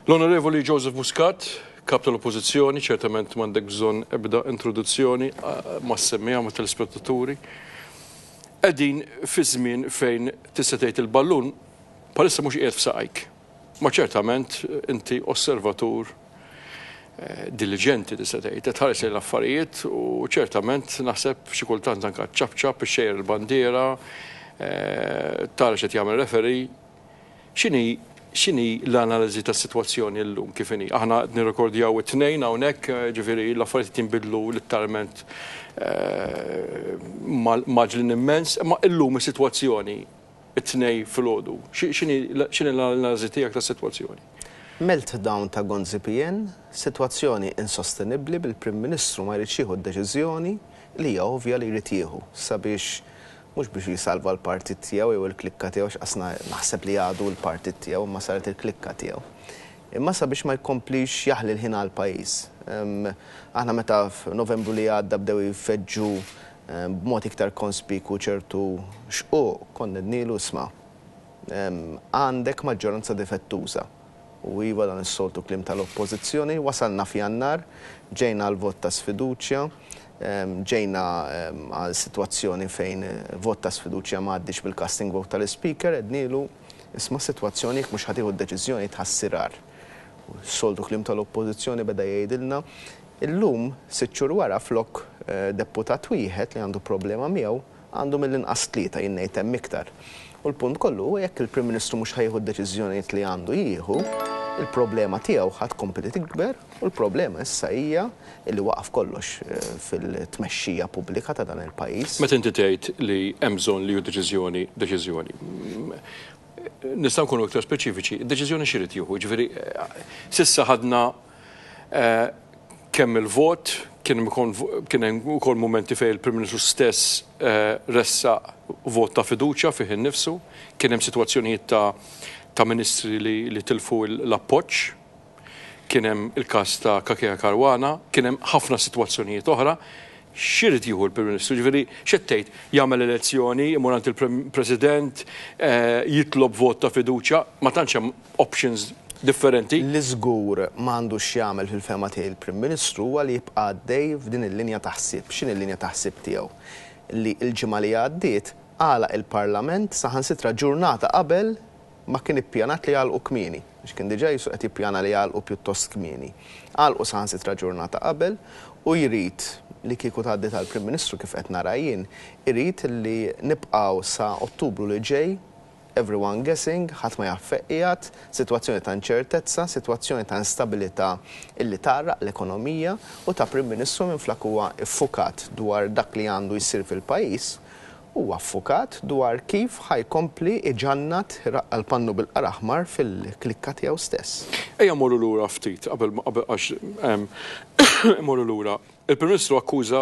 L-Onorevoli Joseph Muscat, Kap tal-Oppożizzjoni, ċertament m'għandek bżonn ebda introduzzjoni mas-semmiegħa mat-telespettaturi. Qegħdin fi żmien fejn tista' tgħid il-ballun bħalissa mhux qiegħed f'saqajk. Ma ċertament inti osservatur diliġenti tista' tgħid, qed tħares lejn l-affarijiet u ċertament naħseb xi kultant anke ċapċap, ixxejjer il-bandiera, tara x'qed jagħmel referee. X'inhi x'inhi l-analiżi tas-sitwazzjoni llum kif inhi? Aħna qed nirrekordjaw it-Tnejn hawnhekk, ġifieri l-affarijiet qed jinbidlu litteralment mgħaġġlin immens, imma illum is-sitwazzjoni it-Tnejn filgħodu, x'inhi x'inhi l-analiżi tiegħek tas-sitwazzjoni? Meltdown ta' Gonzi PN, sitwazzjoni insostenibbli bil-Prim Ministru ma jridx jieħu d-deċiżjoni li hija ovvja li jrid jieħu sabiex Mhux biex jsalva l-partit tiegħu jew il-klikka tiegħu għax qasna naħseb li għadu l-partit tiegħu imma saret il-klikka tiegħu. Imma sabiex ma jkomplix jaħli l-ħin għall-pajjiż. Aħna meta f'Novembru li għadda bdew jfeġġu b'mod iktar konspikwu ċertu xquq, konna għednilu isma' għandek maġġoranza difettuża. U iva dan is-soltu kliem tal-Oppożizzjoni, wasalna f'Jannar, ġejna għal vot ta' sfiduċja, ġejna għal sitwazzjoni fejn vot ta' sfiduċja ma għaddiex bil-casting vote tal-Ispeaker, għednilu isma' s-sitwazzjoni jekk mhux ħa tieħu d-deċiżjoni tħassir agħar. U s-soltu kliem tal-Oppożizzjoni beda jgħidilna, illum, sitt xhur wara, flok deputat wieħed li għandu problema miegħu, Għandu mill-inqas tlieta, jien ngħid hemm iktar. U l-punt kollu huwa jekk il-Prim Ministru mhux ħa jieħu d-deċiżjonijiet li għandu jieħu, il-problema tiegħu ħa tkompli tikber u l-problema issa hija li waqaf kollox fil-tmexxija pubblika ta' dan il-pajjiż. Meta inti tgħid li hemm bżonn li jieħu deċiżjoni, deċiżjoni. Nistgħu nkunu iktar speċifiċi, deċiżjoni x'irid jieħu? Jiġifieri s'issa ħadna kemm il-vot, kien hemm ukoll mumenti fejn il-Prim Ministru stess ressaq vot ta' fiduċja fih innifsu, kien hemm sitwazzjonijiet ta' ta' ministri li tilfu l-appoġġ, kien hemm il-każ ta' Cachia Caruana, kien hemm ħafna sitwazzjonijiet oħra. X'irid jieħu l-Prim Ministru? Jiġifieri x'qed tgħid? Jagħmel elezzjoni, imur għand il-President, jitlob vot ta' fiduċja, ma tantx hemm options differenti. Li żgur ma għandux x'jagħmel fil-fehma tiegħi l-Prim Ministru huwa li jibqa' għaddej f'din il-linja ta' ħsieb. X'inhi l-linja ta' ħsieb tiegħu? Li l-ġimgħa li għaddiet għalaq il-Parlament saħansitra ġurnata qabel ma kien ippjanat li jagħlqu kmieni, għax kien diġà qisu qed jippjana li jagħlqu pjuttost kmieni. Għalqu saħansitra ġurnata qabel u jrid, li kieku tgħaddi tal-Prim Ministru kif qed nara jien, irid li nibqgħu sa Ottubru li ġej, everyone guessing, ħadd ma jaf fejn qiegħed, sitwazzjoni ta' inċertezza, sitwazzjoni ta' instabilità illi tgħarraq l-ekonomija u ta' Prim Ministru minflok huwa ffukat dwar dak li għandu jsir fil-pajjiż, Huwa ffukat dwar kif ħa jkompli iġannat iraqqa' l-pannu bil-qara aħmar fil-klikka tiegħu stess. Ejja mmorru lura ftit qabel għax immorru lura. Il-Prim Ministru akkuża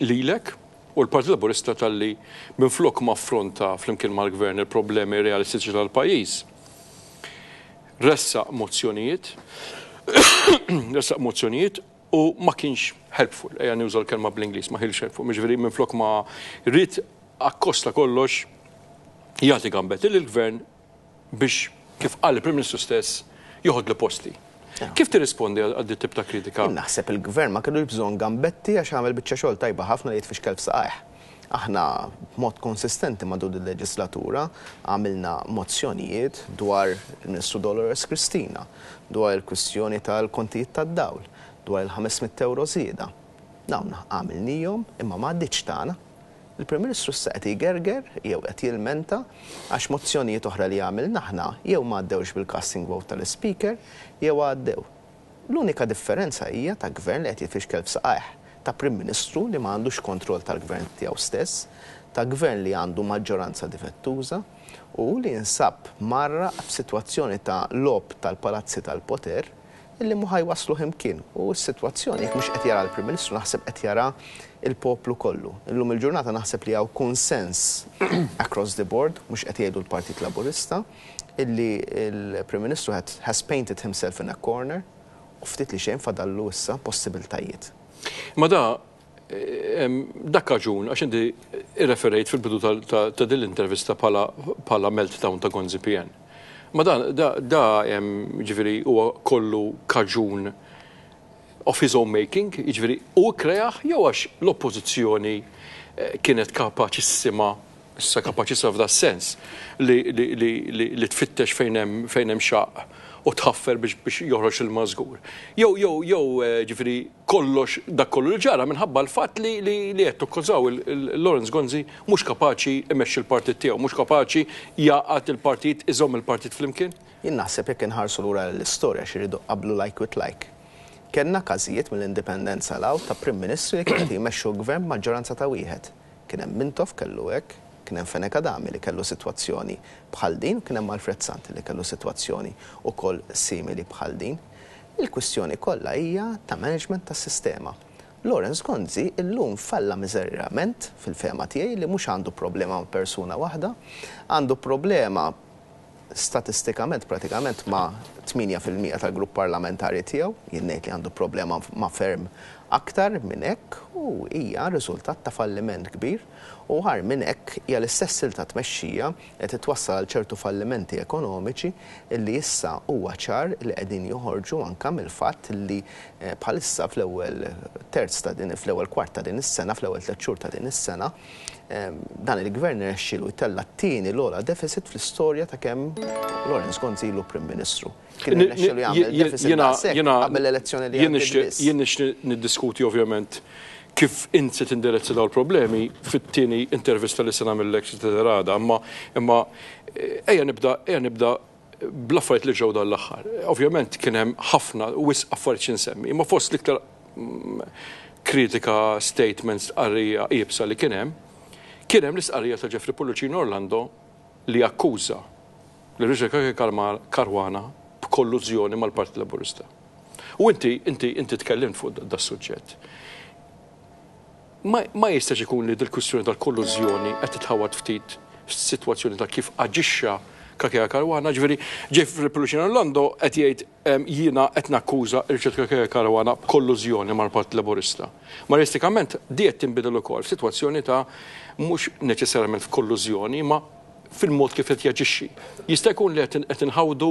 lilek u l-Partit Laburista talli minflok ma affronta flimkien mal-Gvern il-problemi realistiċi tal-pajjiż, ressaq mozzjonijiet, ressaq mozzjonijiet u ma kienx helpful, ejja nuża l-kelma bl-Ingliż, ma kienx helpful, jiġifieri minflok ma ried akkost ta' kollox jagħti gambetti lill-Gvern biex, kif qal il-Prim Ministru stess, joħodlu posti. Kif tirrispondi għal dit tip ta' kritika? Jien naħseb il-Gvern ma kellux bżonn gambetti għax għamel biċċa xogħol tajba ħafna li jitfixkel f'saqajh. Aħna b'mod konsistenti matul il-leġislatura għamilna mozzjonijiet dwar il-Ministru Dolores Cristina, dwar il-kwistjoni tal-kontijiet tad-dawl, dwar il-500 ewro żieda. Dawn għamilnihom imma ma għaddietx tagħna. Il-Prim Ministru issa qed jgerger jew qed jilmenta għax mozzjonijiet oħra li għamilna aħna jew ma għaddewx bil-casting vote tal-Ispeaker jew għaddew. L-unika differenza hija ta' Gvern li qed jitfixkel f'saqajh, ta' Prim Ministru li ma għandux kontroll tal-Gvern tiegħu stess, ta' Gvern li għandu maġġoranza difettuża u li jinsab mgħarraq f'sitwazzjoni ta' logħob tal-palazzi tal-poter illi mhu ħa jwassluh imkien. U s-sitwazzjoni jekk mhux qed jaraha l-Prim Ministru naħseb qed jaraha l-poplu kollu. Illum il-ġurnata naħseb li hawn kunsens across the board, mhux qed jgħidu l-Partit Laburista, illi l-Prim Ministru has painted himself in a corner u ftit li xejn fadallu issa possibiltajiet. Imma da dak kaġun għax inti irreferejt fil-bidu ta' din l-intervista bħala meltdown ta' Gonzi PN. Ma dan da da jiġifieri huwa kollu kaġun of his own making, jiġifieri hu kkreah jew għax l-Oppożizzjoni kienet kapaċissima, issa kapaċissima f'das-sens, li li li li li tfittex fejn hemm fejn hemm xaqq u tħaffer biex biex joħroġ l-ilma żgur. Jew jew jew jiġifieri kollox dak kollu li ġara minħabba l-fatt li li li qed tukkużaw il-Lawrence Gonzi mhux kapaċi imexxi l-partit tiegħu, mhux kapaċi jgħaqqad il-partit, iżomm il-partit flimkien? Jien naħseb jekk inħarsu lura lill-istorja għax irridu nqabblu like with like. Kellna każijiet mill-Indipendenza 'l hawn ta' Prim Ministri li kienu qed jmexxu gvern b'maġġoranza ta' wieħed. Kien hemm Mintoff kellu hekk, kien hemm Fenech Adami li kellu sitwazzjoni bħal din u kien hemm Alfred Sant li kellu sitwazzjoni ukoll simili bħal din. Il-kwistjoni kollha hija ta' management tas-sistema. Lawrence Gonzi illum falla miżerjament fil-fehma tiegħi li mhux għandu problema ma' persuna waħda, għandu problema statistikament pratikament ma' 8% tal-grupp parlamentari tiegħu, jien ngħid li għandu problema ma' ferm aktar minn hekk u hija riżultat ta' falliment kbir u agħar minn hekk hija l-istess stil ta' tmexxija qed twassal għal ċertu fallimenti ekonomiċi li issa huwa ċar li qegħdin joħorġu anke mill-fatt li bħalissa fl-ewwel terz ta' din fl-ewwel kwart ta' din is-sena, fl-ewwel tlett xhur ta' din is-sena, dan il-Gvern irnexxielu jtella' t-tieni l-ogħla deficit fl-istorja ta' kemm Lawrence Gonzi ilu Prim Ministru. Kien irnexxielu jagħmel deficit daqshekk qabel l-elezzjoni li għaddiet biss. Jien nixtieq niddiskuti ovvjament kif int se tindirizza dawn il-problemi fit-tieni intervista li se nagħmillek xi tidher għada, imma imma ejja nibda ejja nibda bl-affarijiet li ġraw dan l-aħħar. Ovvjament kien hemm ħafna wisq affarijiet xi nsemmi, imma fost l-iktar kritika, statements, stqarrija iebsa li kien hemm, kien hemm l-istqarrija ta' Jeffrey Pullicino Orlando li akkuża lil Richard Cachia Caruana b'kollużjoni mal-Partit Laburista. U inti, inti, inti tkellimt fuq das-suġġett. Ma, ma jistax ikun li dil-kwistjoni tal-kollużjoni qed titħawwad ftit fis-sitwazzjoni ta' kif aġixxa Cachia Caruana, ġifieri Jeffrey Pullicino Orlando qed jgħid jiena qed nakkuża Richard Cachia Caruana b'kollużjoni mal-Partit Laburista. Ma realistikament di qed tinbidel ukoll f'sitwazzjoni ta' mhux neċessarjament f'kollużjoni imma fil-mod kif qed jaġixxi. Jista' jkun li qed inħawdu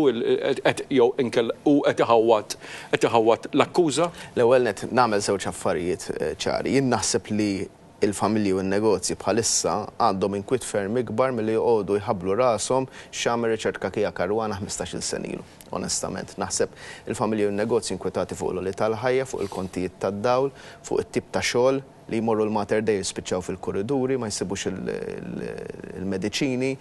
qed jew inkella hu qed iħawwad qed iħawwad l-akkuża? L-ewwel nett nagħmel żewġ affarijiet ċari. Jien naħseb li l-familji u n-negozji bħalissa għandhom inkwiet ferm ikbar milli joqogħdu jħabblu rashom x'għamel Richard Cachia Caruana 15-il sena ilu. Onestament, naħseb il-familji u n-negozji inkwetati fuq l-għoli tal-ħajja, fuq il-kontijiet tad-dawl, fuq it-tip ta' xogħol, li jmorru l-Mater Dei jispiċċaw fil-kuriduri, ma jsibux il-mediċini,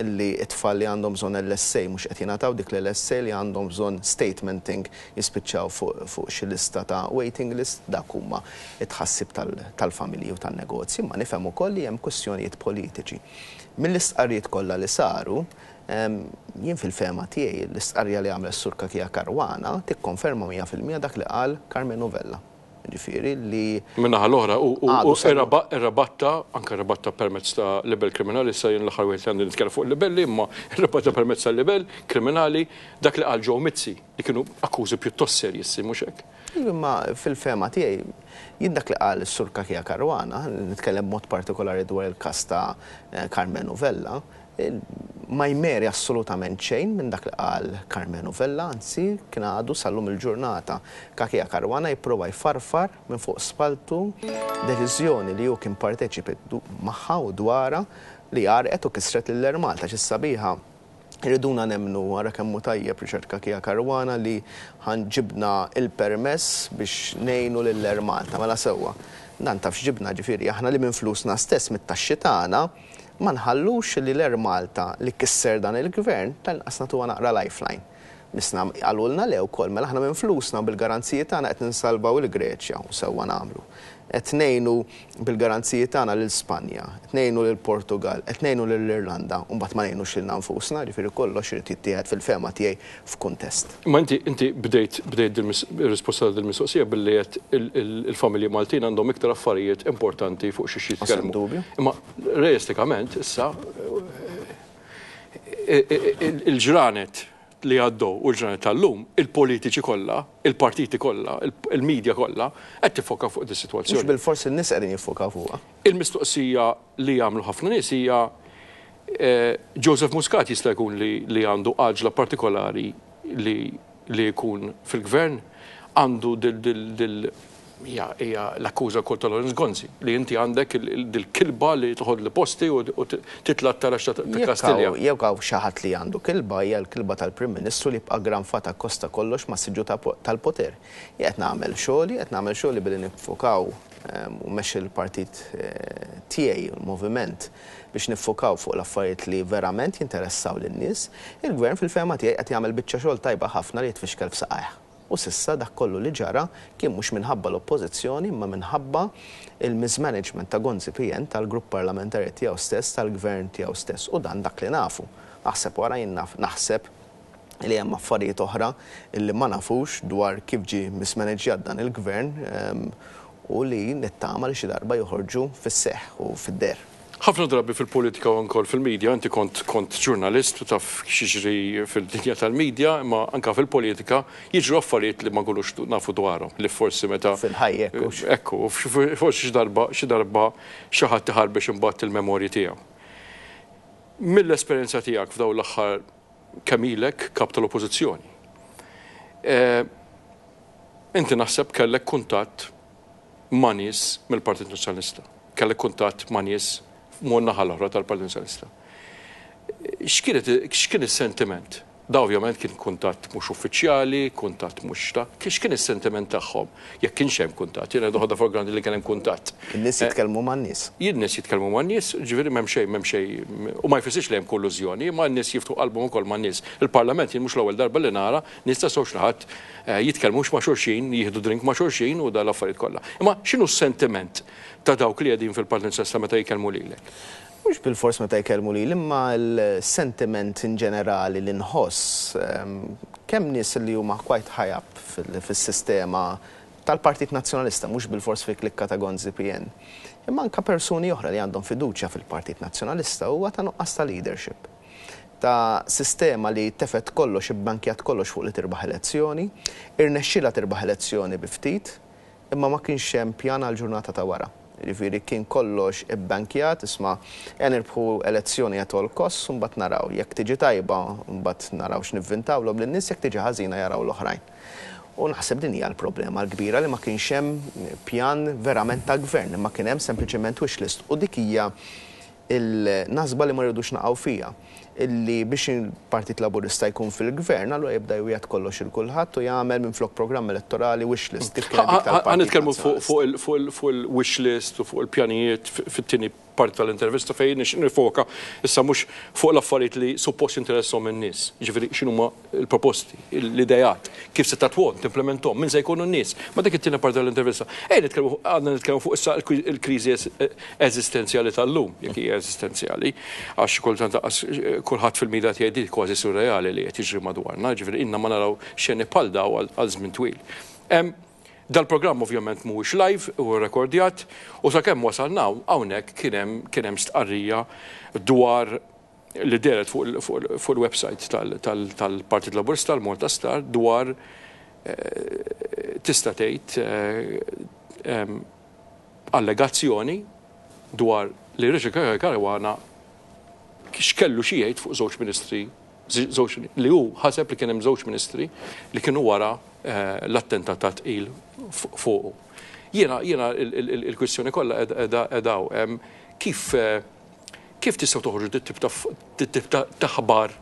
li t-tfal li għandhom bżonn LSA mhux qed jingħataw dik l-LSA, li għandhom bżonn statementing jispiċċaw fuq xi lista ta' waiting list, dak huma t-tħassib tal-familji u tan-negozji, imma nifhem ukoll li hemm kwistjonijiet politiċi. Mill-istqarrijiet kollha li saru, jien fil-fehma tiegħi l-istqarrija li għamel is-Sur Cachia Caruana tikkonferma 100% dak li qal Karmenu Vella. Jiġifieri li. Min-naħa l-oħra, hu irrabatta, anke rrabatta permezz ta' libell kriminali, issa jien l-aħħar wieħed li għandi nitkellem fuq il-libelli, imma rrabatta permezz tal-libell kriminali dak li qal Joe Mizzi, li kienu akkużi pjuttost serji, mhux hekk? Iva, imma fil-fehma tiegħi, jien dak li qal is-Sur Cachia Caruana, nitkellem b'mod partikolari dwar il-każ ta' Karmenu Vella, Ma jmeri assolutament xejn minn dak li qal Karmenu Vella, anzi kien għadu sal-lum il-ġurnata Cachia Caruana jipprova jfarfar minn fuq spalltu deċiżjoni li hu kien parteċipi magħha u dwarha li għarrqet u kisret lil Air Malta għax is-sabiħa jriduna nemmnu ara kemm hu tajjeb Richard Cachia Caruana li ħa ġibna l-permess biex ngħinu lil Air Malta. Mela sewwa. Dan taf x'ġibna ġifieri aħna li minn flusna stess mit-taxxi tagħna Ma nħallux li l-Air Malta li kisser dan il-Gvern tal-inqas nagħtuha naqra lifeline. Missna qalulna le wkoll, mela aħna minn flusna u bil-garanziji tagħna qed ninsalvaw il-Greċja u sewwa nagħmlu. Qed ngħinu bil-garanziji tagħna lil Spanja, qed ngħinu lill-Portugall, qed ngħinu lill-Irlanda u mbagħad ma ngħinux lilna nfusna, jiġifieri kollox irid jittieħed fil-fehma tiegħi f'kuntest. Imma inti inti bdejt bdejt ir-risposta ta' dil-mistoqsija billi għedt il-familji Maltin għandhom iktar affarijiet importanti fuq xiex jitkellmu. Dubju. Imma realistikament issa il-ġranet li għaddew u l-ġranet tal-lum, il-politiċi kollha, il-partiti kollha, il-media kollha qed tiffoka fuq dis-sitwazzjoni. Mhux bilfors in-nies qegħdin jiffokaw fuqha. Il-mistoqsija li jagħmlu ħafna nies hija. Joseph Muscat jista' jkun li għandu għaġla partikolari li li jkun fil-gvern, għandu dil hija hija l-akkuża wkoll ta' Lawrence Gonzi li inti għandek dil-kilba li toħodli posti u titla' t-taraġ ta' Kastilja. Jekk hawn xi ħadd li għandu kilba hija l-kilba tal-Prim Ministru li jibqa' ggranfat akkost ta' kollox mas-siġġu tal-poter. Jien qed nagħmel xogħli, qed nagħmel xogħli billi niffukaw u mmexxi l-partit tiegħi, il-Moviment, biex niffukaw fuq l-affarijiet li verament jinteressaw lin-nies. Il-Gvern fil-fehma tiegħi qed jagħmel biċċa xogħol tajba ħafna li jitfixkel f'saqajh. U s'issa dak kollu li ġara kien mhux minħabba l-Oppożizzjoni imma minħabba il-mismanagement ta' Gonzi PN, tal-grupp parlamentari tiegħu stess, tal-Gvern tiegħu stess. U dan dak li nafu. Aħseb wara jien naf, naħseb li hemm affarijiet oħra li ma nafux dwar kif ġie mismanaġġjat dan il-Gvern u li nittama li xi darba joħorġu fis-seħħ u fid-deher. Ħafna drabi fil-politika u anke fil-media, inti kont kont ġurnalist u taf x'jiġri fid-dinja tal-media, imma anke fil-politika jiġru affarijiet li ma nkunux nafu dwarhom, li forsi meta. Fil-ħajja hekk hux. Hekk hu, forsi xi darba xi darba xi ħadd iħarbex imbagħad il-memorji tiegħu. Mill-esperjenza tiegħek f'dawn l-aħħar kemm ilek kap tal-Oppożizzjoni, inti naħseb kellek kuntatt ma' nies mill-Partit Nazzjonalista. Kellek kuntatt ma' nies man-naħa l-oħra tal-Partit Nazzjonalista. X'kienet x'kien is-sentiment? Da ovvjament kien kuntatt mhux uffiċjali, kuntatt mhux ta' x'kien is-sentiment tagħhom jekk kienx hemm kuntatt? Jiena noħodha for granted li kien hemm kuntatt. In-nies jitkellmu man-nies. In-nies jitkellmu man-nies, ġifieri m'hemm xejn, m'hemm xejn, u ma jfissirx li hemm kollużjoni, imma n-nies jiftħu qalbhom ukoll man-nies. Il-Parlament jien mhux l-ewwel darba li nara nies ta' żewġ naħat jitkellmux ma' xulxin, jieħdu drink ma' xulxin u dawn l-affarijiet kollha. Imma x'inhu s-sentiment ta' dawk li qegħdin fil-Partit Nazzjonalista meta jkellmu lilek? Mhux bilfors meta jkellmu lili, imma l-sentiment in ġenerali li nħoss, kemm nies li huma quite high up fis-sistema tal-Partit Nazzjonalista, mhux bilfors fil-klikka ta' Gonzi PN, imma anke persuni oħra li għandhom fiduċja fil-Partit Nazzjonalista huwa ta' nuqqas ta' leadership. Ta' sistema li tefgħet kollox, ibbankjat kollox fuq li tirbaħ elezzjoni, irnexxielha tirbaħ elezzjoni bi ftit, imma ma kienx hemm pjan għall-ġurnata ta' wara. Jiġifieri kien kollox ibbankjat, isma' ejja nirbħu elezzjoni at all costs u mbagħad naraw. Jekk tiġi tajba, mbagħad naraw x'nivvintawlhom lin-nies, jekk tiġi ħażina jaraw l-oħrajn. U naħseb din hija l-problema l-kbira li ma kienx hemm pjan verament ta' gvern, imma kien hemm sempliċement wish list u dik hija il-nasba li ma rridux naqgħu fiha, illi biex il-Partit Laburista jkun fil-Gvern, allura jibda jwiegħed kollox 'il kulħadd u jagħmel minflok programm elettorali wish list, kif kienet dik tal-Partit Ħa nitkellmu fuq il-wish list u fuq il-pjanijiet fit-tieni parti tal-intervista fejn nixtieq nifoka issa mhux fuq l-affarijiet li suppost jinteressahom in-nies, jiġifieri x'inhuma l-proposti, l-ideat, kif se tatwhom, timplementhom, min se jkunu n-nies. Ma dik it-tieni parti tal-intervista. Ejja nitkellmu għandna nitkellmu fuq issa l-kriżi eżistenzjali tal-lum, jekk hija eżistenzjali, għax kultant lanqas kulħadd fil-media qed jgħid di kważi surreali li qed jiġri madwarna, jiġifieri ilna ma naraw xeni bħal dawn għal żmien twil. Dal-programm ovvjament mhuwiex live, huwa rrekordjat, u sakemm wasalna hawnhekk kien hemm kien hemm stqarrija dwar li dehret fuq il-website tal-Partit Laburista, l-Malta Star, dwar tista' tgħid allegazzjoni dwar li Richard Caruana x'kellu xi jgħid fuq żewġ ministri żewġ li hu ħaseb li kien hemm żewġ ministri li kienu wara l-attentat ta' tqil fuqu. Jiena jiena il-kwistjoni kollha qiegħda hawn. Kif Kif tistgħu toħorġu dit-tip ta' dit-tip ta' aħbar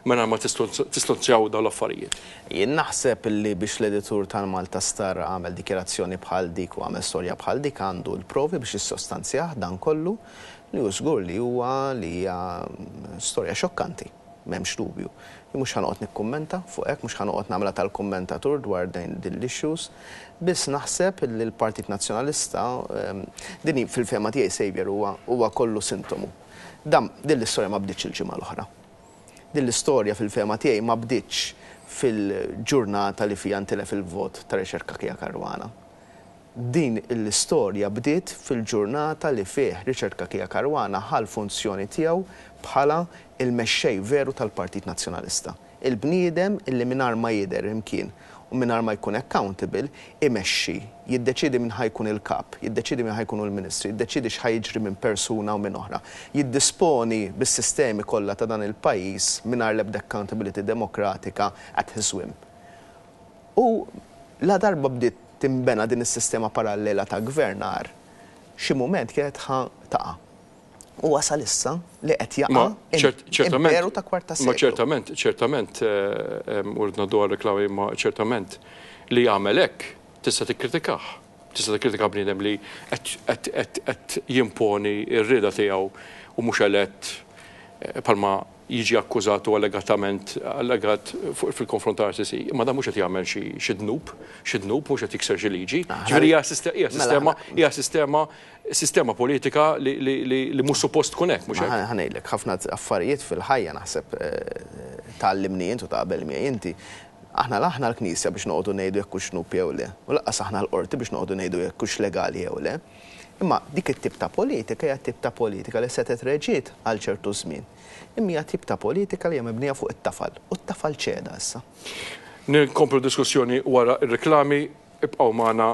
mingħajr ma tistonzjaw dawn l-affarijiet? Jien naħseb li biex l-editur tal-Malta Star għamel dikjarazzjoni bħal dik u għamel storja bħal dik għandu l-provi biex jissostanzjah dan kollu li hu żgur li huwa li hija storja xokkanti. M'hemmx dubju. Jien mhux ħa noqgħod nikkummenta fuq hekk, mhux ħa noqgħod nagħmilha tal-kummentatur dwar din l-issues. Biss naħseb li l-Partit Nazzjonalista, din hi fil-fehma tiegħi Saviour huwa huwa kollu sintomu. Dan din l-istorja ma bdietx il-ġimgħa l-oħra. Din l-istorja fil-fehma tiegħi ma bdietx fil-ġurnata li fiha ntilef il-vot ta' Richard Cachia Caruana. Din l-istorja bdiet fil-ġurnata li fih Richard Cachia Caruana ħa l-funzjoni tiegħu bħala l-mexxej veru tal-Partit Nazzjonalista. Il-bniedem illi mingħajr ma jidher imkien u u mingħajr ma jkun accountable, imexxi, jiddeċiedi min ħa jkun il-Kap, jiddeċiedi min ħa jkunu l-Ministri, jiddeċiedi x'ħa jiġri minn persuna u minn oħra, jiddisponi bis-sistemi kollha ta' dan il-pajjiż mingħajr l-ebda accountability demokratika at his whim. U ladarba bdiet tinbena din is-sistema parallela ta' gvernar, xi mument kienet ħa taqa'. U wasal issa li qed jaqa' imperu ta' kwart ta' seklu. Ma ċertament, ċertament, u rrid ngħaddu għar-reklami, imma ċertament li jagħmel hekk tista' tikkritikah. Tista' tikkritika bniedem li qed jimponi r-rieda tiegħu u mhux elett bħalma jiġi akkużat u allegatament allegat fil-konfront ta' RCC. Imma dan mhux qed jagħmel xi dnub, xi dnub, mhux qed jikser xi liġi. Ġifieri hija sistema, hija sistema, sistema politika li mhux suppost tkun hekk, mhux hekk? Ħa ngħidlek, ħafna affarijiet fil-ħajja naħseb tgħallimni int u taqbel miegħi inti. Aħna la aħna l-Knisja biex noqogħdu ngħidu jekk hux dnub jew le, u lanqas aħna l-Qorti biex noqogħdu ngħidu jekk hux legali jew le. Imma dik it-tip ta' politika hija tip ta' politika li setgħet reġiet għal ċertu żmien. Imma hija tip ta' politika li hija mibnija fuq it-tafal, u t-tafal ċeda issa. Nkomplu d-diskussjoni wara r-riklami. Ibqgħu magħna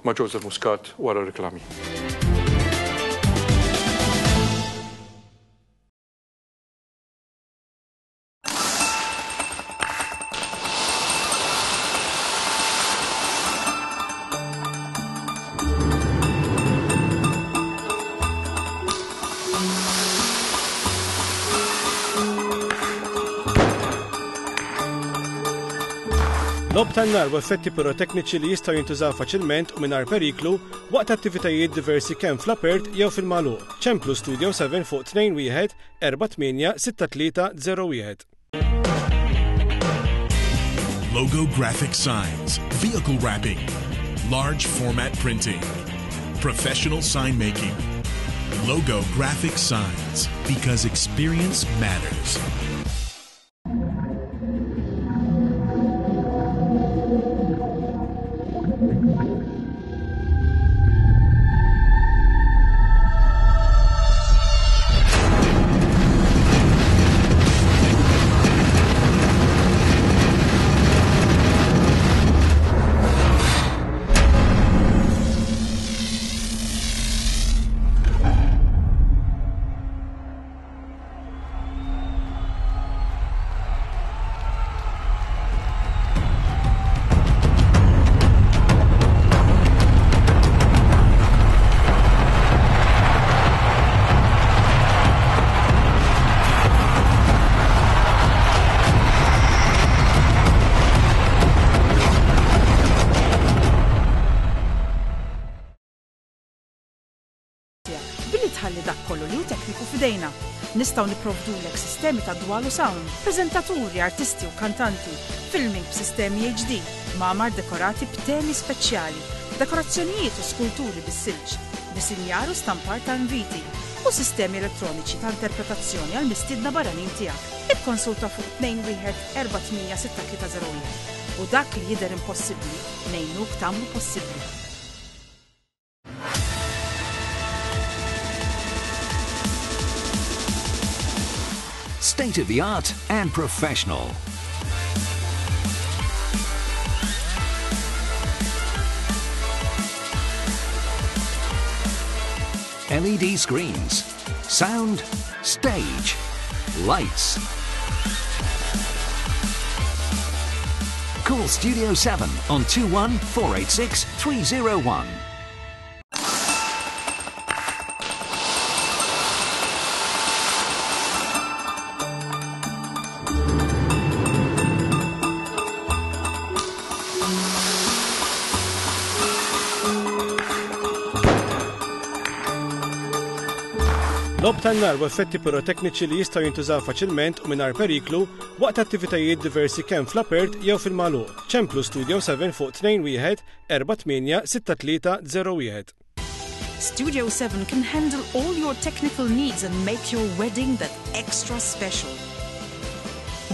ma' Joseph Muscat wara r-riklami. Logħob tan-nar u effetti pirotekniċi li jistgħu jintużaw faċilment u mingħajr periklu waqt attivitajiet diversi kemm fl-apert jew fil-magħluq. Ċemplu Studio 7 fuq 21 486301. Logo graphic signs, vehicle wrapping, large format printing, professional sign making. Logo graphic signs, because experience matters. tiegħek billi tħalli dak kollu li hu tekniku f'idejna. Nistgħu nipprovdulek sistemi ta' dwal u sound, preżentaturi, artisti u kantanti, filming b'sistemi HD, kmamar dekorati b'temi speċjali, dekorazzjonijiet u skulturi bis-silġ, disinjar u stampar ta' inviti, u sistemi elettroniċi ta' interpretazzjoni għall-mistiedna barranin tiegħek. Ikkonsulta fuq 21 48 6301 u dak li jidher impossibbli ngħinuk tagħmlu possibbli. State of the art and professional. LED screens, sound, stage, lights. Call Studio 7 on 21 486 301. Logħob tan-nar u effetti pirotekniċi li jistgħu jintużaw faċilment u mingħajr periklu waqt attivitajiet diversi kemm fl-apert jew fil-magħluq. Ċemplu Studio 7 fuq 21 48 6301. Studio 7 can handle all your technical needs and make your wedding that extra special.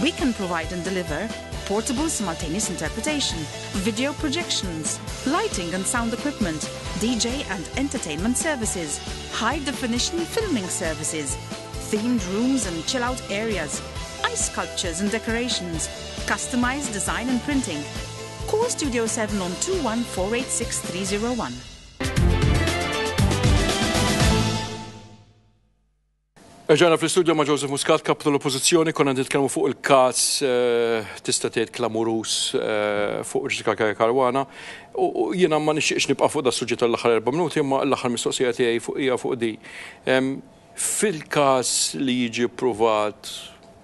We can provide and deliver portable simultaneous interpretation, video projections, lighting and sound equipment, DJ and entertainment services, high definition filming services, themed rooms and chill out areas, ice sculptures and decorations, customized design and printing. Call Studio 7 on 21 486 301. Erġajna fl-istudio ma' Joseph Muscat, kap tal-Oppożizzjoni, konna nitkellmu fuq il-każ eh, tista' tgħid klamuruż eh, fuq Jessica Caruana. U jiena ma nixtieqx nibqa' fuq da suġġett tal-aħħar erba' minuti, imma l-aħħar mistoqsija tiegħi fuq hija fuq di. Fil-każ li jiġi ppruvat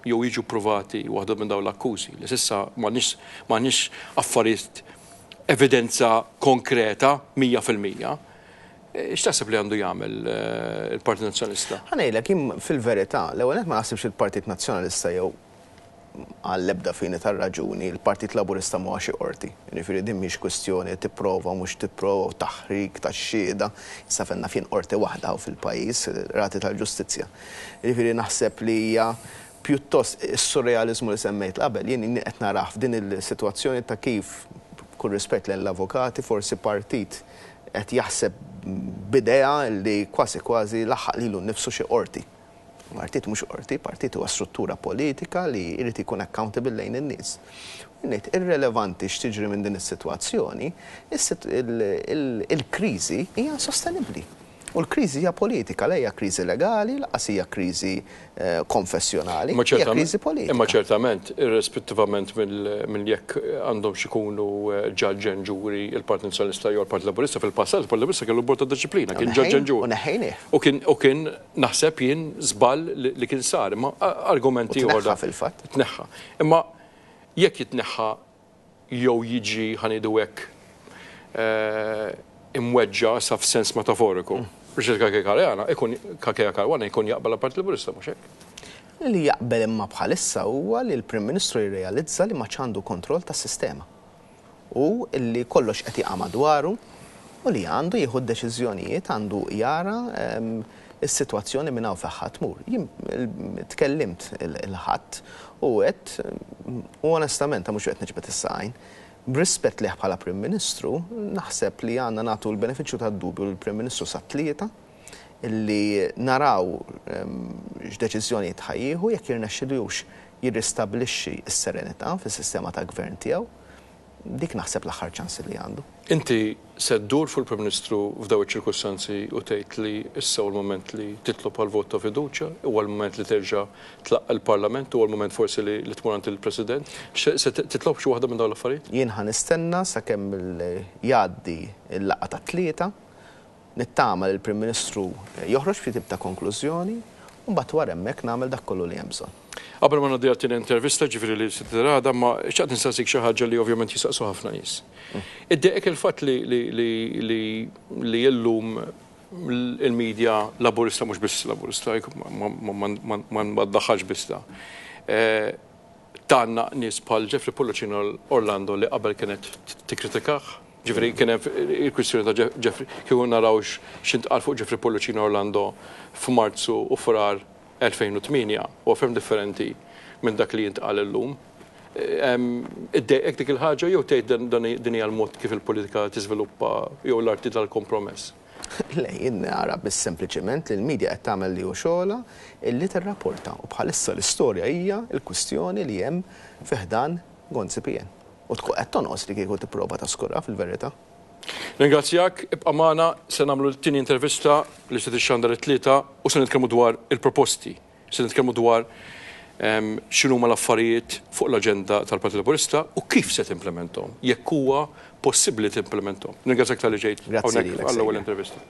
jew jiġu ppruvati waħda minn dawn l-akkużi, li s'issa m'għandniex affarijiet evidenza konkreta 100%, x'taħseb li għandu jagħmel il-Partit Nazzjonalista? Ħa ngħidlek, jien fil-verità, l-ewwel nett ma naħsibx li l-Partit Nazzjonalista jew għall-ebda fini tar-raġuni, il-Partit Laburista m'huwa xi qorti. Jiġifieri din mhix kwistjoni tipprova u mhux tipprova u taħrik tax-xhieda. Issa fejn naf jien qorti waħda hawn fil-pajjiż, il-Qrati tal-Ġustizzja. Jiġifieri naħseb li hija pjuttost is-surrealiżmu li semmejt qabel, jien qed narah f'din is-sitwazzjoni ta' kif, b'kull rispett lejn l-avukati, forsi partit qed jaħseb b'idea li kważi kważi laħaq lilu nnifsu xi qorti. Partit mhux qorti, partit huwa struttura politika li jrid ikun accountable lejn in-nies. U ngħid irrelevanti x'tiġri minn din is-sitwazzjoni, il-kriżi hija insostenibbli. U l-kriżi hija politika, la hija kriżi legali, lanqas hija kriżi konfessjonali, hija kriżi politika. Imma ċertament, irrispettivament minn jekk għandhomx ikunu judge and jury il-Partit Nazzjonalista jew il-Partit Laburista, fil-passat il-Partit Laburista kellu bord ta' dixxiplina, kien judge and jury. U neħħejnieh. U kien Naħseb jien żball li kien sar, imma argument ieħor. U tneħħa fil-fatt. Tneħħa. Imma jekk jitneħħa jew jiġi ħa ngħidu hekk imweġġa' sa f'sens metaforiku, Richard Cachia Caruana ikun Cachia Caruana jkun jaqbel għall-Partit Laburista mhux hekk? Li jaqbel imma bħalissa huwa li l-Prim Ministru jirrealizza li m'għadx għandu kontroll tas-sistema. u li kollox qed jaqa' madwaru u li għandu jieħu d-deċiżjonijiet, għandu jara s-sitwazzjoni minn hawn fejn ħa tmur. Jien tkellimt il-Ħadd u għedt, u onestament mhux qed niġbed is-saqajn, b'rispett lejh bħala Prim Ministru, naħseb li għandna nagħtu l-benefiċċju tad-dubju lill-Prim Ministru sat-Tlieta, li naraw x'deċiżjonijiet ħa jieħu, jekk jirnexxilux jirristabbilixxi s-serenità fis-sistema ta' gvern tiegħu. Dik naħseb l-aħħar ċans li għandu. Inti se ddur fuq il-Prim Ministru f'dawn iċ-ċirkustanzi u tgħid li issa hu l-mument li titlob għal vot ta' fiduċja, huwa l-mument li terġa' tlaqqa' l-Parlament, huwa l-mument forsi li tmur għand il-President. Se titlob xi waħda minn dawn l-affarijiet? Jien ħa nistenna sakemm jgħaddi l-laqgħa tat-Tlieta Nittama li l-Prim Ministru joħroġ b'xi tip ta' konklużjoni u mbagħad wara hemmhekk nagħmel dak kollu li hemm bżonn. Qabel ma ngħaddi għat-tieni intervista, ġifieri li se tidher għada, imma xtaqt nistaqsik xi ħaġa li ovvjament jistaqsu ħafna nies. Iddejqek il-fatt li li li li illum il-media Laburista, mhux biss Laburista, ma ddaħħalx biss ta', tgħannaq nies bħal Jeffrey Pullicino Orlando li qabel kienet tikkritikah? Ġifieri kien hemm il-kwistjoni ta' Jeffrey, kieku naraw x'intqal fuq Jeffrey Pullicino Orlando f'Marzu u Frar 2008, huwa ferm differenti minn dak li jintqal illum. Iddejqek dik il-ħaġa jew tgħid din hija l-mod kif il-politika tiżviluppa jew l-arti tal-kompromess? Le, jien nara biss sempliċement li l-media qed tagħmel li hu xogħolha illi tirrapporta u bħalissa l-istorja hija l-kwistjoni li hemm fi ħdan Gonzi PN. U tkun qed tonqos li kieku tipprova taskurha fil-verità. Ringrazzjak, ibqa' magħna, se nagħmlu t-tieni intervista li se tixxandar it-Tlieta u se nitkellmu dwar il-proposti, se nitkellmu dwar x'inhuma l-affarijiet fuq l-aġenda tal-Partit Laburista u kif se timplementhom, jekk huwa possibbli timplementhom. Nirringrazzjak talli ġejt hawnhekk għall-ewwel intervista.